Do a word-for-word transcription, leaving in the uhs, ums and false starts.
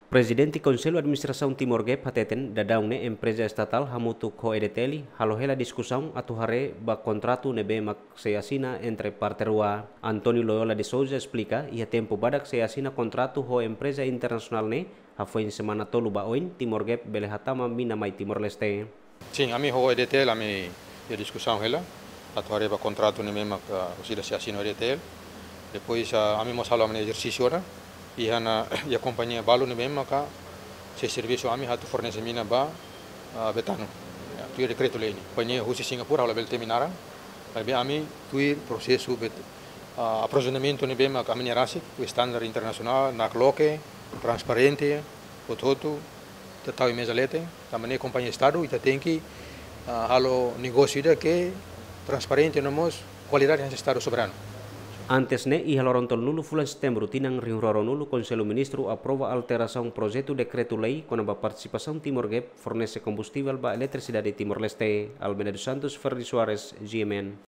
Prezidente Konsellu Administrasaun Timor Gap hateten, daudaun ne'e empreza estatál hamutuk ho E D T L halo hela diskusaun atu haree ba kontratu ne'ebé mak sei asina entre parte rua. António Loyola de Sousa esplika, iha tempu badak sei asina kontratu ho empreza internasionál ne'e, hafoin semana tolu ba oin, Timor Gap bele hatama mina mai Timor-Leste. Sin, ami ho E D T L, ami iha diskusaun hela atu haree ba kontratu ne'ebé mak, ah, orsida sei asina ho E D T L. Depois, ah, ami mós halo ami-nia ezersísiu ona, iha ona, iha kompañia balu ne'ebé maka sei servisu ami atu fornese mina ba, ah, Betano. Ya, tuir dekretu-lei ne'e. Kompañia husi Singapura, ha'u labele temi naran. Maibé ami tuir prosesu bet-, ah, aprovizionamentu ne'ebé mak ami-nia rasik, ho standar internasionál, nakloke, transparente, hotu-hotu, ita tau iha meza leten, tanba ne'e kompañia Estadu, ita tenke, ah, halo negósiu ida ke transparente no mós kualidade hanesan Estadu soberanu. Antes ne'e, iha loron tolunulu fulan Setembru tinan rihun rua ruanulu, Konsellu Ministru aprova alterasaun projetu dekretu-lei kona-ba partisipasaun Timor Gap fornese kombustivel ba eletrisidade Timor-Leste. Almeida dos Santos, Ferdi Soares, G M N.